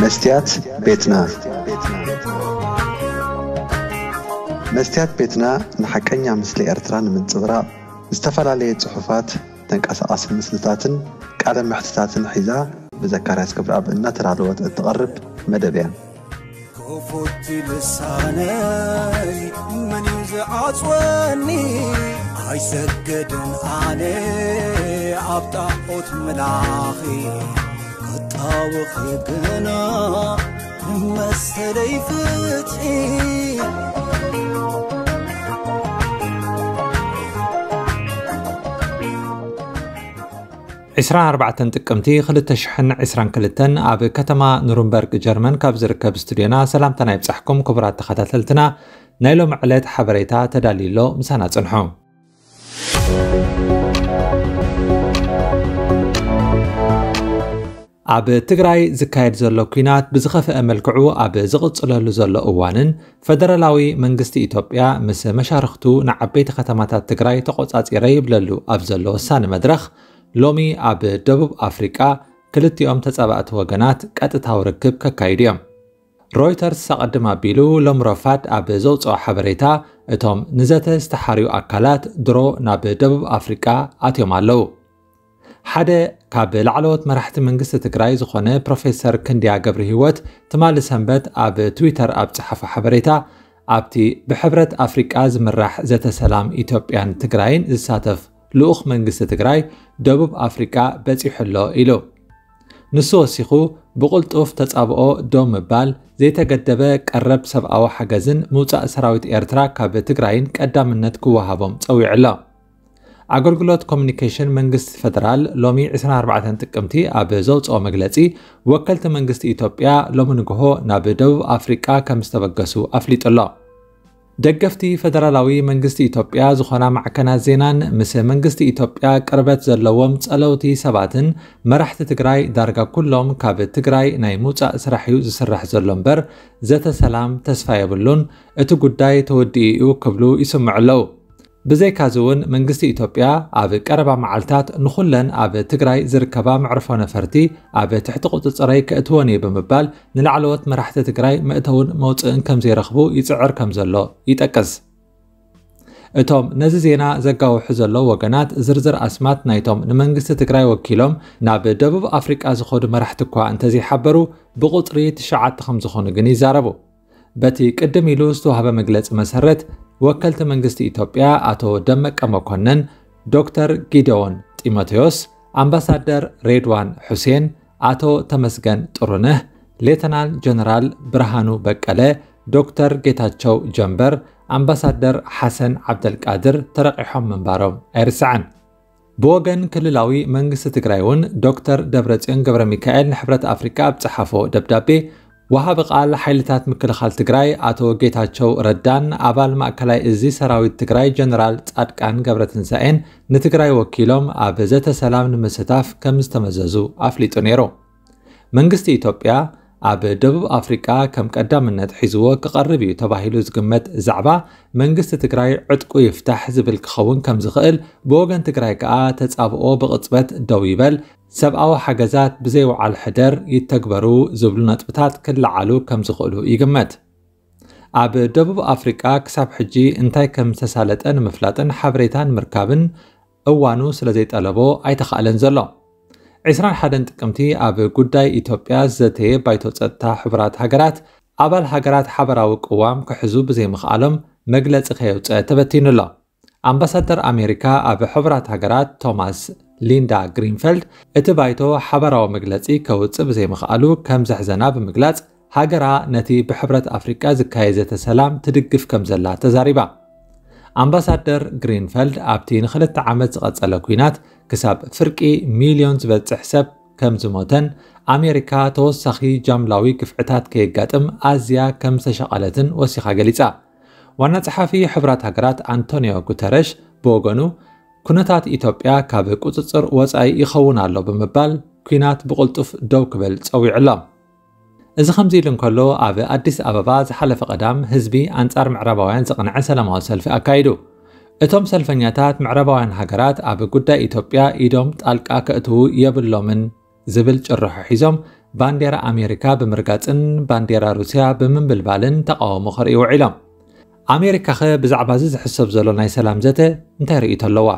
መስትያት ቤትና። መስትያት ቤትና ንሓቀኛ ምስሊ ኤርትራ ንምንጽብራቕ ዝተፈላለየ ጽሑፋት፣ ተንቀሳቓሲ ምስልታትን ቃለ መሕትታትን ሒዛ ብዘካርያስ ገብረኣብ እናተዳለወት እትቐርብ መደብ እያ። ክፉት ልሳነይ መን እዩ ዝዓጽወኒ? ኣይሰግድን ኣነ ኣብ ጣዖት ምላኺ፣ ክጣወኺ ግና መሰለይ ፍትሒ። ዕስራን ኣርባዕተን ጥቅምቲ ክልተ ሽሕን ዕስራን ክልተን ኣብ ከተማ ኑርንበርግ ጀርመን ካብ ዝርከብ ስቱድዮና ሰላምታና ይብጻሕኩም ክቡራት ተኸታተልትና። ናይ ሎሚ ዕለት ሓበሬታ ተዳልዩ ኣሎ፣ ምሳና ጽንሑ። ኣብ ትግራይ ዝካየድ ዘሎ ኲናት ብዝኸፍአ መልክዑ ኣብ ዝቕጽለሉ ዘሎ እዋንን፣ ፈደራላዊ መንግስቲ ኢትዮጵያ ምስ መሻርኽቱ ንዓበይቲ ከተማታት ትግራይ ተቖጻጺረ ይብለሉ ኣብ ዘሎ ወሳኒ መድረኽ፣ ሎሚ ኣብ ደቡብ ኣፍሪቃ ክልቲኦም ተጻባእቲ ወገናት ቀጥታዊ ርክብ ከካይዱ እዮም። ሮይተርስ ኣቐድም ኣቢሉ ሎም ረፋድ ኣብ ዘውጽኦ ሓበሬታ፣ እቶም ንዘተ ዝተሓርዩ ኣካላት ድሮ ናብ ደቡብ ኣፍሪቃ ኣትዮም ኣለዉ። ሓደ ካብ ላዕለዎት መራሕቲ መንግስቲ ትግራይ ዝኾነ ፕሮፌሰር ክንድያ ገብረ ህይወት ትማሊ ሰንበት ኣብ ትዊተር ኣብ ጸሓፎ ሓበሬታ፣ ኣብቲ ብሕብረት ኣፍሪቃ ዝምራሕ ዘተ ሰላም ኢትዮጵያን ትግራይን ዝሳተፍ ልኡኽ መንግስቲ ትግራይ ደቡብ ኣፍሪቃ በጺሑ ኣሎ ኢሉ። ንሱ ወሲኹ፣ ብቕልጡፍ ተጻብኦ ደው ምባል፣ ዘይተገደበ ቀረብ ሰብኣዊ ሓገዝን ምውጻእ ሰራዊት ኤርትራ ካብ ትግራይን ቀዳምነት ክወሃቦም ጸዊዑ ኣሎ። ኣገልግሎት ኮሚኒኬሽን መንግስቲ ፈደራል ሎሚ ዕስራን ኣርባዕተን ጥቅምቲ ኣብ ዘውጽኦ መግለጺ፣ ወከልቲ መንግስቲ ኢትዮጵያ ሎሚ ንግሆ ናብ ደቡብ ኣፍሪቃ ከም ዝተበገሱ ኣፍሊጡ ኣሎ። ደገፍቲ ፈደራላዊ መንግስቲ ኢትዮጵያ ዝኾና ማዕከናት ዜናን ምስ መንግስቲ ኢትዮጵያ ቅርበት ዘለዎም ጸለውቲ ሰባትን መራሕቲ ትግራይ ዳርጋ ኩሎም ካብ ትግራይ ናይ ምውጻእ ስራሕ እዩ ዝስራሕ ዘሎ እምበር ዘተ ሰላም ተስፋ የብሉን፣ እቲ ጉዳይ ተወዲኡ እዩ ክብሉ ይስምዑ ኣለዉ። ብዘይካዚ እውን መንግስቲ ኢትዮጵያ ኣብ ቀረባ መዓልታት ንኹለን ኣብ ትግራይ ዝርከባ መዕርፎ ነፈርቲ ኣብ ትሕቲ ቁጽጽረይ ከእትወን እየ ብምባል ንላዕለዎት መራሕቲ ትግራይ መእተውን መውፅእን ከም ዘይረኽቡ ይፅዕር ከም ዘሎ ይጠቅስ። እቶም ነዚ ዜና ዘጋውሑ ዘለዉ ወገናት ዝርዝር ኣስማት ናይቶም ንመንግስቲ ትግራይ ወኪሎም ናብ ደቡብ ኣፍሪቃ ዝኸዱ መራሕቲ እኳ እንተዘይሓበሩ ብቁፅሪ ትሽዓተ ከም ዝኾኑ ግን ይዛረቡ። በቲ ቅድም ኢሉ ዝተዋህበ መግለጺ መሰረት፣ ወከልቲ መንግስቲ ኢትዮጵያ ኣቶ ደመቀ መኮነን፣ ዶክተር ጊደዎን ጢሞቴዎስ፣ ኣምባሳደር ሬድዋን ሑሴን፣ ኣቶ ተመስገን ጥሩነህ፣ ሌተናል ጀነራል ብርሃኑ በቀለ፣ ዶክተር ጌታቸው ጀንበር፣ ኣምባሳደር ሓሰን ዓብደልቃድር ተረቂሖም ምንባሮም ኣይርሳዕን። ብወገን ክልላዊ መንግስቲ ትግራይ እውን ዶክተር ደብረጽዮን ገብረ ሚካኤል ንሕብረት ኣፍሪቃ ኣብ ጸሓፎ ደብዳቤ፣ ወሃቢ ቃል ሓይልታት ምክልኻል ትግራይ ኣቶ ጌታቸው ረዳን ኣባል ማእከላይ እዚ ሰራዊት ትግራይ ጀነራል ጻድቃን ገብረትንሳኤን ንትግራይ ወኪሎም ኣብ ዘተ ሰላም ንምስታፍ ከም ዝተመዘዙ ኣፍሊጡ ነይሩ። መንግስቲ ኢትዮጵያ ኣብ ደቡብ ኣፍሪቃ ከም ቀዳምነት ሒዝዎ ክቐርብ እዩ ተባሂሉ ዝግመት ዛዕባ መንግስቲ ትግራይ ዕጥቁ ይፍታሕ ዝብል ክኸውን ከም ዝኽእል፣ ብወገን ትግራይ ከኣ ተጻብኦ ብቕጽበት ደው ይበል፣ ሰብኣዊ ሓገዛት ብዘይ ወዓል ሕደር ይተግበሩ ዝብሉ ነጥብታት ክለዓሉ ከም ዝኽእሉ ይግመት። ኣብ ደቡብ ኣፍሪቃ ክሳብ ሕጂ እንታይ ከም ዝተሳለጠ ንምፍላጥን ሓበሬታ ንምርካብን እዋኑ ስለ ዘይጠለቦ ኣይተኻእለን ዘሎ። ዕስራን ሓደን ጥቅምቲ ኣብ ጉዳይ ኢትዮጵያ ዝዘተየ ባይቶ ጸጥታ ሕቡራት ሃገራት፣ ኣባል ሃገራት ሓበራዊ ቅዋም ክሕዙ ብዘይምኽኣሎም መግለጺ ከየውጸ ተበቲኑ ኣሎ። ኣምባሳደር ኣሜሪካ ኣብ ሕቡራት ሃገራት ቶማስ ሊንዳ ግሪንፈልድ፣ እቲ ባይቶ ሓበራዊ መግለጺ ከውጽእ ብዘይምኽኣሉ ከም ዘሕዘና ብምግላጽ፣ ሃገራ ነቲ ብሕብረት ኣፍሪቃ ዝካየድ ዘተ ሰላም ትድግፍ ከም ዘላ ተዛሪባ። ኣምባሳደር ግሪንፈልድ ኣብቲ ንኽልተ ዓመት ዝቐጸለ ኲናት ክሳብ ፍርቂ ሚልዮን ዝበጽሕ ሰብ ከም ዝሞተን ኣሜሪካ ተወሳኺ ጃምላዊ ግፍዕታት ከየጋጥም ኣዝያ ከም ዝተሸቐለትን ወሲኻ ገሊጻ። ዋና ጸሓፊ ሕቡራት ሃገራት ኣንቶኒዮ ጉተረሽ ብወገኑ፣ ኩነታት ኢትዮጵያ ካብ ቁጽጽር ወጻኢ ይኸውን ኣሎ ብምባል፣ ኲናት ብቕልጡፍ ደው ክብል ጸዊዑ ኣሎ። እዚ ከምዚ ኢሉ እንከሎ፣ ኣብ ኣዲስ ኣበባ ዝሓለፈ ቀዳም ህዝቢ ኣንጻር ምዕራባውያን ዘቕንዐ ሰላማዊ ሰልፊ ኣካይዱ። እቶም ሰልፈኛታት፣ ምዕራባውያን ሃገራት ኣብ ጉዳይ ኢትዮጵያ ኢዶም ጣልቃ ከእትዉ የብሎምን ዝብል ጭርሖ ሒዞም ባንዴራ ኣሜሪካ ብምርጋጽን ባንዴራ ሩስያ ብምንብልባልን ተቃውሞ ከርእዩ ውዒሎም። ኣሜሪካኸ ብዛዕባ እዚ ዝሕሰብ ዘሎ ናይ ሰላም ዘተ እንታይ ርእይቶ ኣለዋ?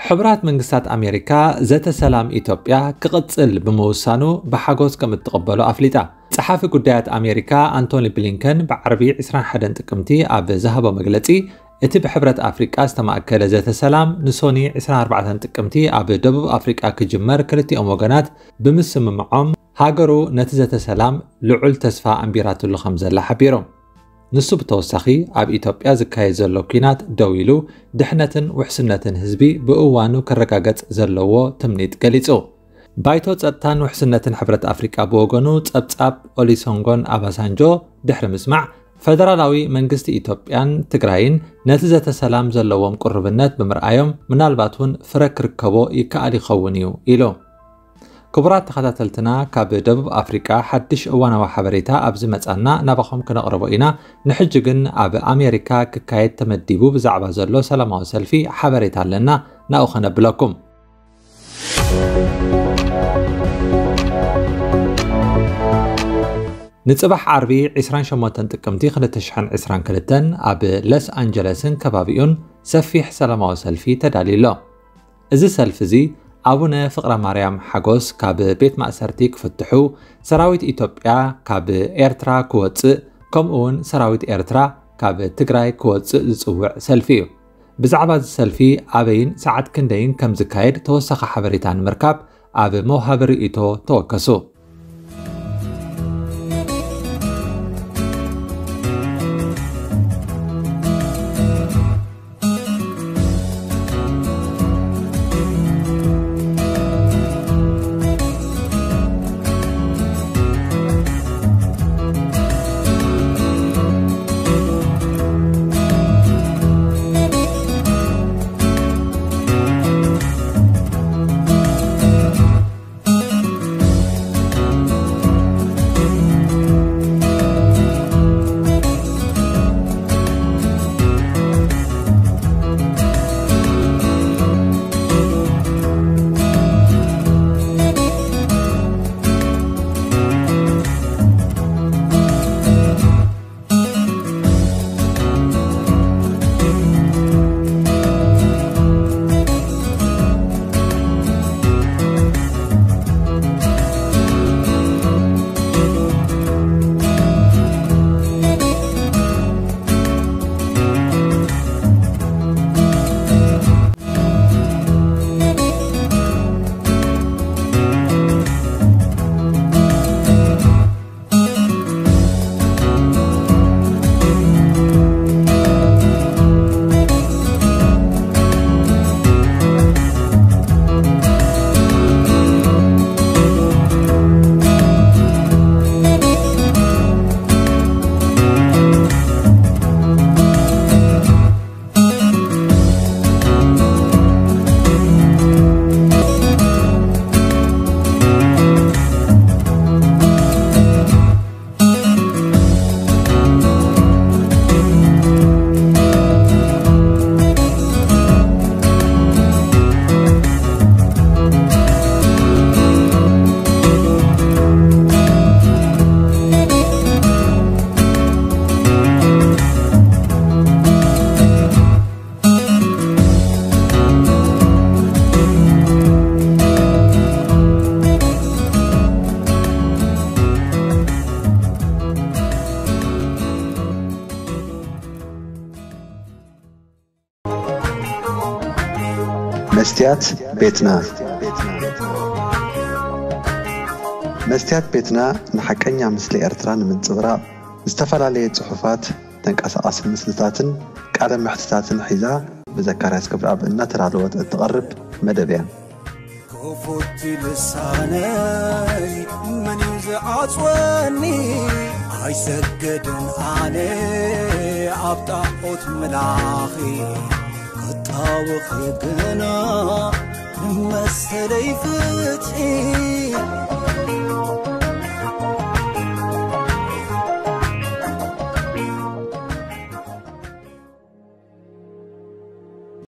ሕቡራት መንግስታት ኣሜሪካ ዘተ ሰላም ኢትዮጵያ ክቕጽል ብምውሳኑ ብሓጎስ ከም እትቕበሎ ኣፍሊጣ። ጸሓፊ ጉዳያት ኣሜሪካ ኣንቶኒ ብሊንከን ብዓርቢ ዕስራን ሓደን ጥቅምቲ ኣብ ዝሃቦ መግለጺ፣ እቲ ብሕብረት ኣፍሪቃ ዝተማእከለ ዘተ ሰላም ንሶኒ ዕስራን ኣርባዕተን ጥቅምቲ ኣብ ደቡብ ኣፍሪቃ ክጅመር ክልቲኦም ወገናት ብምስምምዖም፣ ሃገሩ ነቲ ዘተ ሰላም ልዑል ተስፋ ኣንቢራትሉ ከም ዘላ ሓቢሩ። ንሱ ብተወሳኺ ኣብ ኢትዮጵያ ዝካየድ ዘሎ ኲናት ደው ኢሉ ድሕነትን ውሕስነትን ህዝቢ ብእዋኑ ክረጋገጽ ዘለዎ ትምኒት ገሊጹ። ባይቶ ጸጥታን ውሕስነትን ሕብረት ኣፍሪቃ ብወገኑ ጸብጻብ ኦሊሶንጎን ኣባሳንጆ ድሕሪ ምስማዕ፣ ፈደራላዊ መንግስቲ ኢትዮጵያን ትግራይን ነቲ ዘተ ሰላም ዘለዎም ቅሩብነት ብምርኣዮም ምናልባት እውን ፍረ ክርከቦ ይከኣል ይኸውን እዩ ኢሉ። ክቡራት ተኸታተልትና፣ ካብ ደቡብ ኣፍሪቃ ሓድሽ እዋናዊ ሓበሬታ ኣብ ዝመጻና ናባኹም ክነቕርቦ ኢና። ንሕጂ ግን ኣብ ኣሜሪካ ክካየድ ተመዲቡ ብዛዕባ ዘሎ ሰላማዊ ሰልፊ ሓበሬታ ኣለና፣ ናብኡ ከነብለኩም። ንጽባሕ ዓርቢ ዕስራን ሸሞንተን ጥቅምቲ ክልተ ሽሕን ዕስራን ክልተን ኣብ ሎስ ኣንጀለስን ከባቢኡን ሰፊሕ ሰላማዊ ሰልፊ ተዳልዩ ኣሎ። እዚ ሰልፊ እዚ ኣቡነ ፍቕረ ማርያም ሓጎስ ካብ ቤት ማእሰርቲ ክፍትሑ፣ ሰራዊት ኢትዮጵያ ካብ ኤርትራ ክወጽእ፣ ከምኡ እውን ሰራዊት ኤርትራ ካብ ትግራይ ክወጽእ ዝጽውዕ ሰልፊ እዩ። ብዛዕባ እዚ ሰልፊ ኣበይን ሰዓት ክንደይን ከም ዝካየድ ተወሳኺ ሓበሬታ ንምርካብ ኣብ መውሃቢ ርእይቶ ተወከሱ። መስትያት ቤትና። መስትያት ቤትና ንሓቀኛ ምስሊ ኤርትራ ንምንጽብራቕ ዝተፈላለየ ጽሑፋት፣ ተንቀሳቓሲ ምስልታትን ቃለ መሕትታትን ሒዛ ብዘካርያስ ገብረኣብ እናተዳለወት እትቐርብ መደብ እያ። ክፉት ልሳነይ መን እዩ ዝዓጽወኒ? ኣይሰግድን ኣነ ኣብ ጣዖት ምላኺ፣ ክጣወኺ ግና መሰለይ ፍትሒ።